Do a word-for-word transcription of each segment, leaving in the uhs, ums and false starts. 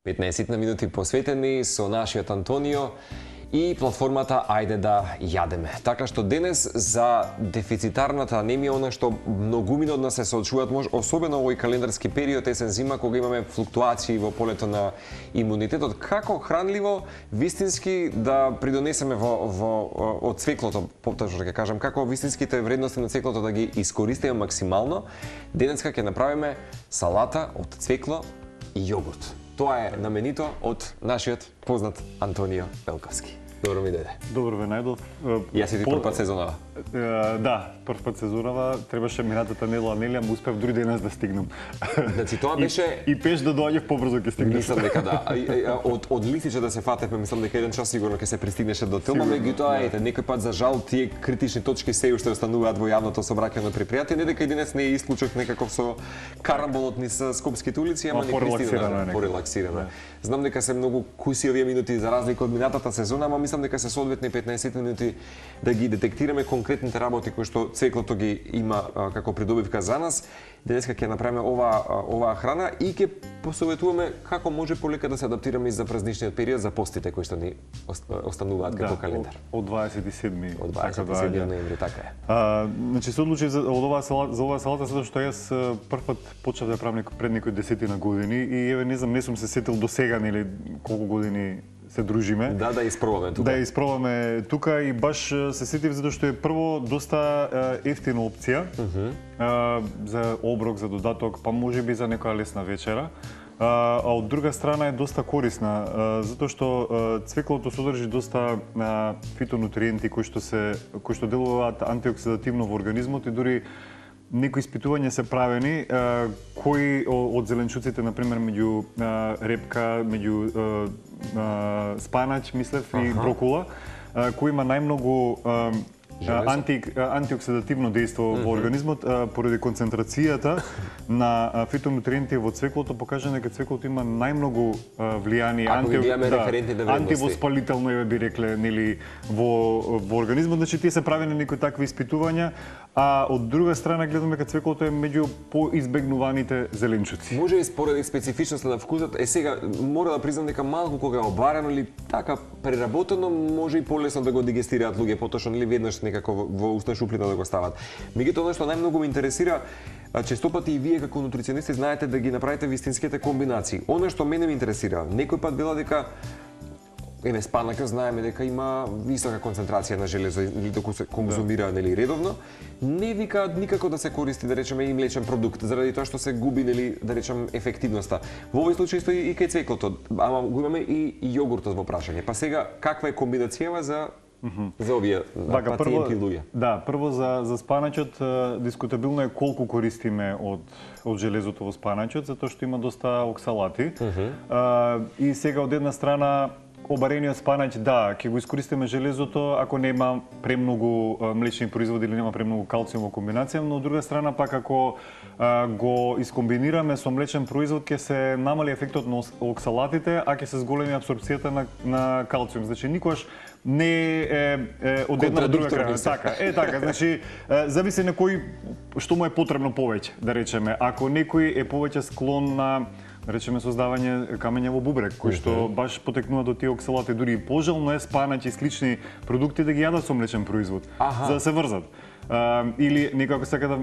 петнаесет минути посветени со нашиот Антонио и платформата Ајде да јадеме. Така што денес за дефицитарната анемија, она што многумина од нас се соочуваат, може особено овој календарски период есен зима кога имаме флуктуации во полето на имунитетот, како хранливо вистински да придонесеме во во од цвеклото, поточно ќе кажам, како вистинските вредности на цвеклото да ги искористиме максимално. Денеска ќе направиме салата од цвекло и јогурт. Тоа е наменито од нашиот познат Антонио Велковски. Добро ми дојде. Добро ве најдов. Јас и ти прв пат сезонава. Да, прв пат сезонава, требаше минатата недела, нели, ама успев дури денес да стигнам. Значи тоа беше и, и пеш да доаѓав побрзо ќе стигнеш. Мислам дека да. Од од листиче да се фатевме, мислам дека еден час сигурно ќе се пристигнеше до тема, меѓутоа ете некој пат за жал тие критични точки се уште остануваат во јавното сообраќајно предпријатие, не дека и денес не е исклучок некаков со карамболот низ скопските улици, ама не пристигна порелаксирано. Знам дека се многу куси овие минути за разлика од минатата сезона, ама мислам дека се соодветни петнаесет минути да ги детектираме конкретните работи кои што цвеклото ги има а, како придобивка за нас. Денеска ќе направиме ова оваа храна и ќе посоветуваме како може полека да се адаптираме и за празничниот период, за постите кои што ни остануваат како да, календар. Од, од дваесет и седми Од дваесет и седми ноември, така е. А, значи се одлучив за од оваа салата, за оваа салата затоа што јас прв пат почнав да правам пред некои десетина години и еве не знам, не сум се сетил до сега нели колку години се дружиме. Да, да испробаме тука. Да испробаме тука и баш се сетив затоа што е прво доста ефтина опција uh -huh. а, за оброк, за додаток, па можеби за некоја лесна вечера. А, а од друга страна е доста корисна, а, затоа што а, цвеклото содржи доста а, фитонутриенти кои што се кои што делуваат антиоксидативно во организмот и дури некои испитувања се правени а, кои од зеленчуците, например, меѓу а, репка, меѓу а, а, спанач, мислев, и ага. брокула, а, кои има најмногу а, анти, антиоксидативно дејство mm -hmm. во организмот а, поради концентрацијата на а, фитонутриенти во цвеклото, покажа дека цвеклото има најмногу а, влијание анти, да, антивоспалително е би рекле нели во во организмот, значи тие се правени некои такви испитувања, а од друга страна гледаме дека цвеклото е меѓу поизбегнуваните зеленчуци. Може и според специфичноста на вкусот, е сега мора да признам дека малку кога е обарено или така преработено, може и полесно да го дигестираат луѓе, поточно или веднаш некако во устна шуплина да го стават. Меѓутоа она што најмногу ме интересира, често пати и вие како нутриционисти знаете да ги направите вистинските комбинации. Она што мене ме интересира, некој пат вела дека еве спанакот знаеме дека има висока концентрација на железо или доколку се конзумира нели редовно, не викаат никако да се користи да речеме и млечен продукт заради тоа што се губи нели да речем ефективноста. Во овој случај стои и кај цвеклото, ама го имаме и јогуртот во прашање. Па сега каква е комбинацијава за Mm -hmm. за овие Бага, пациенти и луѓе? Да, прво за, за спаначот, дискутабилно е колку користиме од, од железото во спаначот, затоа што има доста оксалати. Mm -hmm. а, и сега од една страна, обарениот спанач, да, ќе го искористиме железото ако нема премногу млечни производи или нема премногу калциум во комбинација, но од друга страна пак ако а, го искомбинираме со млечен производ ќе се намали ефектот на оксалатите, а ќе се зголеми апсорбцијата на, на калциум. Значи никогаш не е, е од една до друга крај. Така, е така, значи е, зависи на кој што му е потребно повеќе, да речеме. Ако некој е повеќе склон на да речеме создавање камења во бубрек, кој што баш потекнува до тие оксалати, дури и пожелно е спанач и слични продукти да ги јадат со млечен производ, Аха. за да се врзат. А, или некако сака да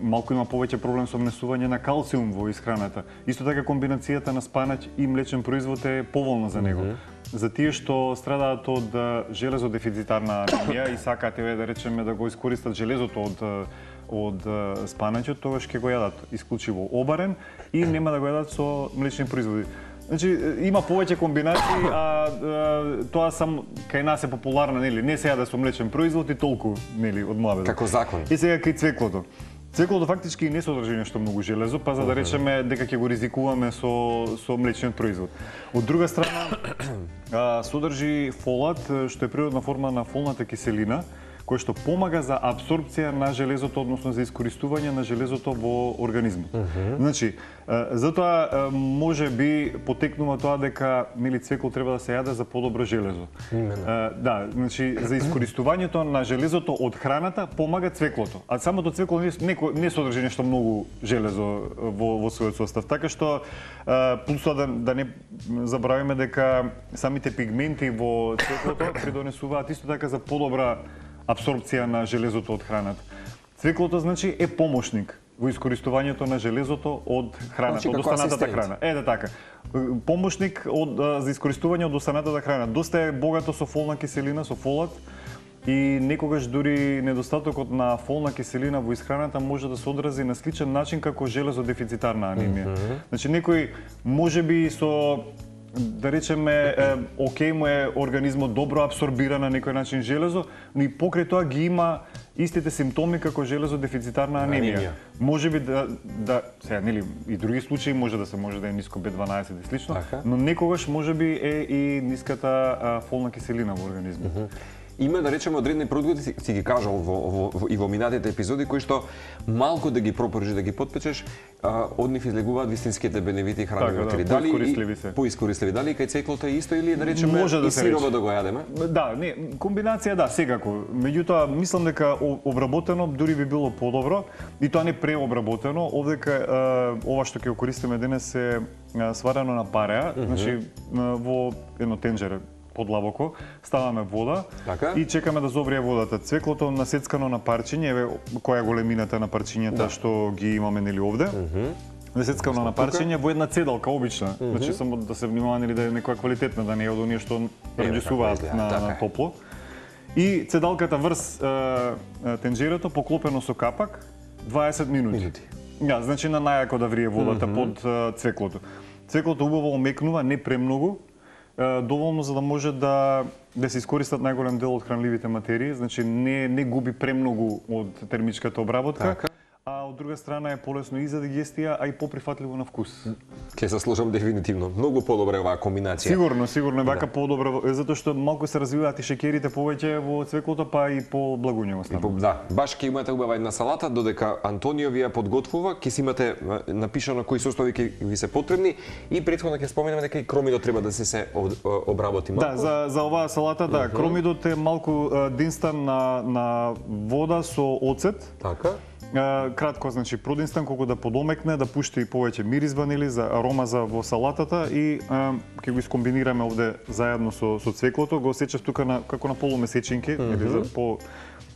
малку има повеќе проблем со внесување на калциум во исхраната. Исто така комбинацијата на спанач и млечен производ е поволна за него. Mm -hmm. За тие што страдаат од железодефицитарна анемија и сакаат еве да речеме да го искористат железото од од спаначот, тогаш ќе го јадат исклучиво обарен и нема да го јадат со млечни производи. Значи има повеќе комбинации, а, а тоа сам кај нас е популарно, нели, не се јаде со млечен производ и толку, нели, од младост. Како закон. И сега кај цвеклото. Цвеклото фактички не содржи нешто многу железо, па за да речеме дека ќе го ризикуваме со со млечниот производ. Од друга страна, а, содржи фолат, што е природна форма на фолната киселина, кој што помага за апсорбција на железото, односно за искористување на железото во организмот. Mm -hmm. Значи, затоа може би потекнува тоа дека нели цвекло треба да се јаде за подобро железо. Именно. Да, значи за искористувањето на железото од храната помага цвеклото. А самото цвекло не не, не содржи нешто многу железо во во својот состав. Така што плюс тоа да, да не забравиме дека самите пигменти во цвеклото придонесуваат исто така за подобра апсорбција на железото од храната. Цвеклото значи е помошник во искористувањето на железото од храната, значи, од останатата храна. Е, да така. Помошник од, за искористување од останатата храна. Доста е богато со фолна киселина, со фолат, и некогаш дури недостатокот на фолна киселина во исхраната може да се одрази на сличен начин како железодефицитарна анемија. Mm -hmm. Значи некој можеби со да речеме, е, окей му е организмот добро абсорбира на некој начин железо, но и покрај тоа ги има истите симптоми како железодефицитарна анемија. анемија. Можеби да да сега нели и други случаи може да се може да е ниско Б дванаесет и слично, така, но некогаш можеби е и ниската а, фолна киселина во организмот. Mm -hmm. Има, да речеме, одредени продукти, си, си ги кажал во, во, во, и во минатите епизоди, кои што малку да ги пропориш, да ги потпечеш, а, од нив излегуваат вистинските бенефити хранени материјали. Да, поискористливи се. Поискористливи. Дали кај цвеклото е исто или да речеме може да и сирово да го јадеме? Да, не, комбинација да, секако. Меѓутоа, мислам дека обработено дури би било подобро, и тоа не преобработено. Овдека ова што ќе го користиме денес е сварено на пареа, mm -hmm. значи во едно тенџере подлабоко, ставаме вода, така, и чекаме да зогрее водата. Цвеклото насецкано на парчиња, еве која е големината на парчињата да. што ги имаме нели овде. Mm -hmm. Насецкано на парчиња во една цедалка обична. Mm -hmm. Значи само да се внимава нели да е некоја квалитетна, да не е од оние што раѓесуваат на, така. на топло. И цедалката врз тенџерето поклопено со капак дваесет минути. Минути. Ja, значи на најако да врие водата mm -hmm. под цвеклото. Цвеклото убаво омекнува, не премногу, доволно за да може да да се искористат најголем дел од хранливите материи, значи не не губи премногу од термичката обработка. Така. А од друга страна е полесно и за дигестија, а и поприфатливо на вкус. Ќе се слушам дефинитивно. Многу подобра е оваа комбинација. Сигурно, сигурно е вака да. подобра, затоа што малку се развиваат и шеќерите повеќе во цвеклото, па и по благуњево стана. Да, баш ќе имате убава една салата, додека Антонио ви ја подготвува, ќе си имате напишано кои состови ќе ви се потребни и претходно ќе споменеме дека и кромидот треба да се се обработи малку. Да, за за оваа салата да, uh -huh. кромидот е малку динстан на на вода со оцет. Така. Кратко, значи продинстан колку да подомекне, да пушти и повеќе мирис ванили за арома за во салатата и а, ќе го искомбинираме овде заедно со со цвеклото, го осечав тука на како на полумесечинки, mm -hmm. или за по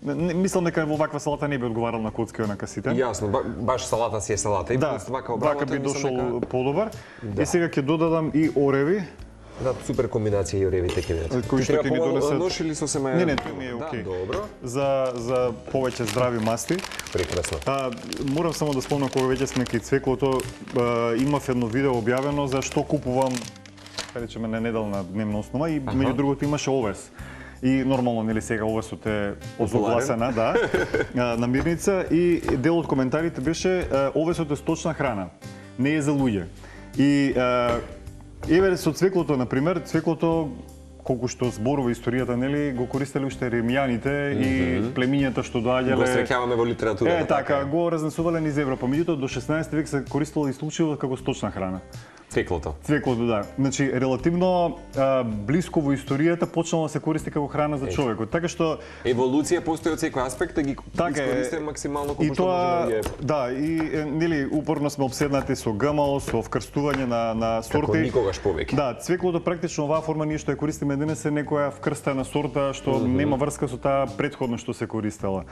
не, мислам дека во ваква салата не би одговарал на коцки на касите. Јасно, ба, баш салата си е салата и да, вака вака би дошол дека... подобар. Да. И сега ќе додадам и ореви. Да, супер комбинација и оревите ќе бидат. Кои што ќе ни донесат? Нож или со семе? Не, не, тоа ми е окей. Да, добро. За за повеќе здрави масти. Прекрасно. А, морам само да спомнам кога веќе сме кај цвеклото, а, имав едно видео објавено за што купувам, да речеме на неделна дневна основа и меѓу другото имаше овес. И нормално нели сега овесот е озогласена, да, намирница и дел од коментарите беше овесот е сточна храна, не е за луѓе. И еве со цвеклото, на пример, цвеклото колку што зборува историјата, нели, го користеле уште римјаните mm -hmm. и племињата што доаѓале. Го среќаваме во литературата. Е, така, така, го разнесувале низ Европа. Меѓутоа до шеснаесети век се користело исклучиво како сточна храна. Цвеклото. Цвеклото, да. Значи, релативно а, блиско во историјата почнало да се користи како храна за човекот. Така што еволуција постои од секој аспект да ги така искористиме максимално колку што може да ги. Да, и нели упорно сме обседнати со ГМО, со вкрстување на на сорти. Како никогаш повеќе. Да, цвеклото практично оваа форма ние што ја користиме денес е некоја вкрстена сорта што mm -hmm. нема врска со таа претходно што се користела.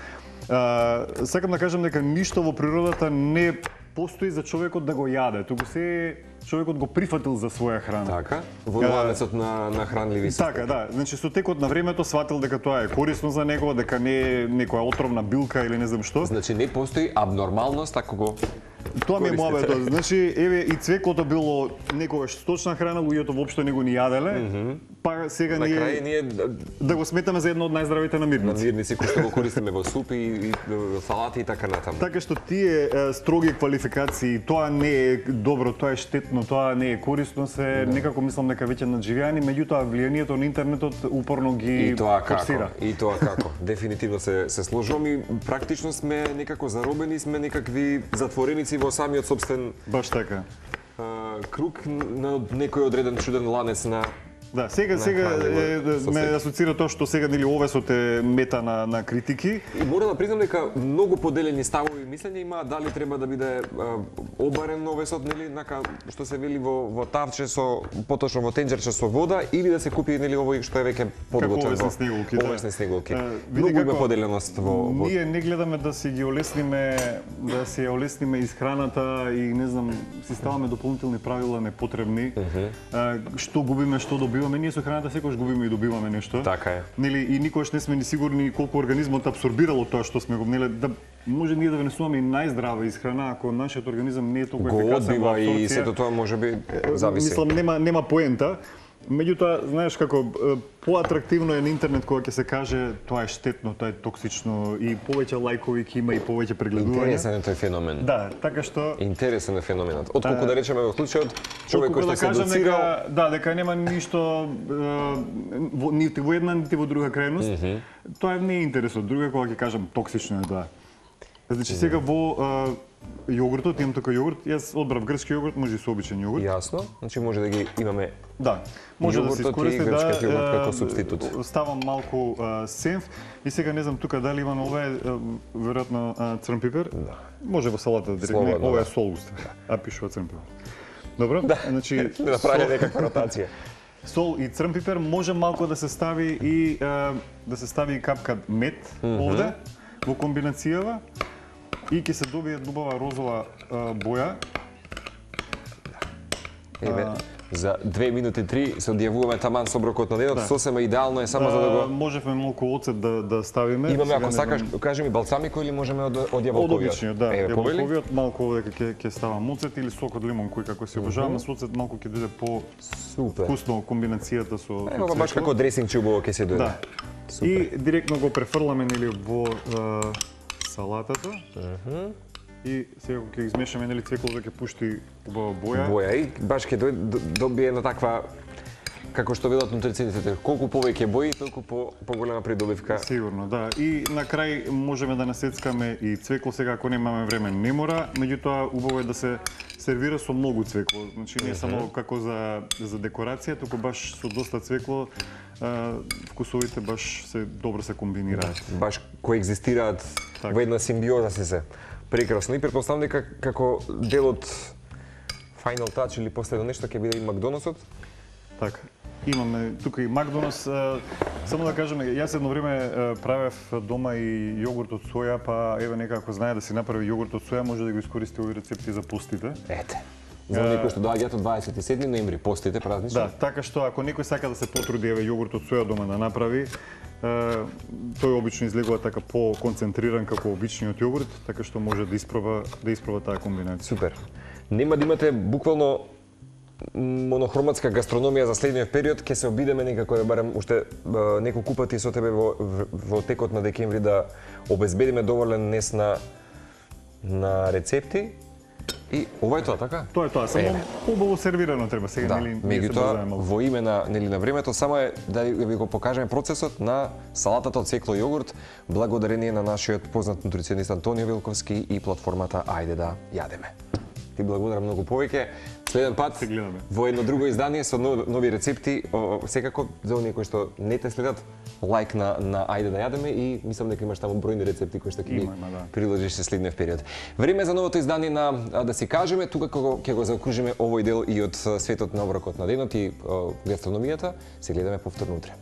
А, сакам да кажам дека ништо во природата не постои за човекот да го јаде, туку се човекот го прифатил за своја храна. Така, во ланецот на на хранливи системи. Така, да, значи со текот на времето сватил дека тоа е корисно за него, дека не е некоја отровна билка или не знам што. Значи не постои абнормалност ако го Тоа ми е користите. муабетот. Значи, еве и цвеклото било некогаш сточна храна, луѓето воопшто не го ни јаделе. Па сега На крај ние ние да го сметаме за едно од најздравите намирници. намирници кои што го користиме во супи и, и салати и така натаму. Така што тие е, строги квалификации, тоа не е добро, тоа е штетно, тоа не е корисно, се некако мислам дека веќе надживеани, меѓутоа влијанието на интернетот упорно ги И тоа како? форсира. И тоа како? Дефинитивно се се сложувам и практично сме некако заробени, сме некакви затвореници во самиот собствен Баш така. а, круг на некој одреден чуден ланец на Да, сега На сега хранење е, во ме соседи. асоцира тоа што сега нели овесот е мета на на критики. И мора да признам дека многу поделени ставови и мислења има дали треба да биде а, обарен овесот, нели, нака што се вели во во тавче со поточно во тенџерче со вода или да се купи нели овој што е веќе подготвен овесни во снеголки, да. овесни снеголки. Е, види Многу има како поделеност во, во Ние не гледаме да си ги олесниме, да си ја олесниме исхраната и не знам, си ставаме дополнителни правила непотребни. А, што губиме, што добиваме, ние со храната секогаш губиме и добиваме нешто. Така е. Нели и никогаш не сме ни сигурни колку организмот абсорбирало тоа што сме го нели да може ние да внесуваме и најздрава исхрана ако нашиот организам не е толку го ефикасен во одбива и абсорбција. сето тоа можеби зависи. Мислам нема нема поента. Меѓутоа, знаеш како е, поатрактивно е на интернет кога ќе се каже тоа е штетно, тоа е токсично и повеќе лајкови ќе има и повеќе прегледувања. Интересен е тој феномен. Да, така што Интересен е феноменот. Отколку да речеме во случајот човек Отколку кој што да се кажам доцирал, дека да, дека нема ништо е, во, нити во една нити во друга крајност. Mm -hmm. Тоа не е интересот. Друго е кога ќе кажам токсично е тоа. Значи сега во е, јогуртот, имам тука јогурт, јас одбрав грчки јогурт, може и со обичен јогурт. јасно, значи може да ги имаме Да, може да се јогуртот и искористи грчкиот да јогурт како е, супститут. Ставам малку е, сенф и сега не знам тука дали има ова е веројатно е, црн пипер. Да. Може во салата директно. Слободно, Ова е да. сол уста. А пишува црн пипер. Добро? Да. Значи да направи некаква ротација. сол и црн пипер може малку да се стави и е, да се стави и капка мед mm -hmm. овде во комбинацијава и ќе се добие убава розова е, боја. Еве, за две минути три се одјавуваме таман со оброкот на денот, Да. сосема идеално е само за да Е, го можевме малку оцет да да ставиме. имаме, Сега ако не сакаш, знам. кажи ми балсамико или можеме од од Од јаболковиот? обичниот, да. Еве, повели? Јаболковиот, малку овде ќе ќе ставам оцет или сок од лимон кој како се обожавам, mm -hmm. со оцет малку ќе биде по Супер. вкусно комбинацијата со Е, ова баш цвекло. како дресинг че убаво ќе се дојде. Да. Супер. И директно го префрламе нели во е, салатата. Мгм. И сега кога ќе измешаме нели цвеклото ќе пушти убава боја. Боја и баш ќе дојде добие една таква како што велат нутрицентите, колку повеќе бои, толку по поголема придобивка. Сигурно, да. И на крај можеме да насецкаме и цвекло сега ако немаме време не мора, меѓутоа убаво е да се сервира со многу цвекло. Значи не само како за за декорација, туку баш со доста цвекло а, вкусовите баш се добро се комбинираат. Баш коегзистираат Така. во една симбиоза се се. Прекрасно. И претпоставам дека како дел од Final Touch или последно нешто ќе биде и Макдоносот. Така. Имаме тука и Макдонос. а, Само да кажеме, јас едно време а, правев дома и јогурт од соја, па еве некако знае да си направи јогурт од соја, може да го искористи овие рецепти за постите. Ете. За оние кои што доаѓаат од дваесет и седми ноември, постите празнично. Да, така што ако некој сака да се потруди еве јогурт од соја дома да направи, е, тој обично излегува така по-концентриран како обичниот јогурт, така што може да испроба да испроба таа комбинација. Супер. Нема да имате буквално монохроматска гастрономија за следниот период, ќе се обидеме некако да барем уште е, неколку пати со тебе во, во текот на декември да обезбедиме доволен нес на на рецепти. И ова е тоа, така? Тоа е тоа, само Еве. убаво сервирано треба сега, Да, нели? ние се меѓутоа базаме малку. во име на нели на времето само е да ви го покажеме процесот на салатата од цвекло јогурт, благодарение на нашиот познат нутриционист Антонио Вилковски и платформата Ајде да јадеме. Ти благодарам многу повеќе. Следен пат Се гледаме. во едно друго издание со нови рецепти, о, секако за оние кои што не те следат, лайк на на Ајде да јадеме и мислам дека имаш таму бројни рецепти кои што ќе ги Има, има, да. приложиш се следниот период. Време за новото издание на а, да си кажеме, тука кога ќе го заокружиме овој дел и од а, светот на оброкот на денот и а, гастрономијата, се гледаме повторно утре.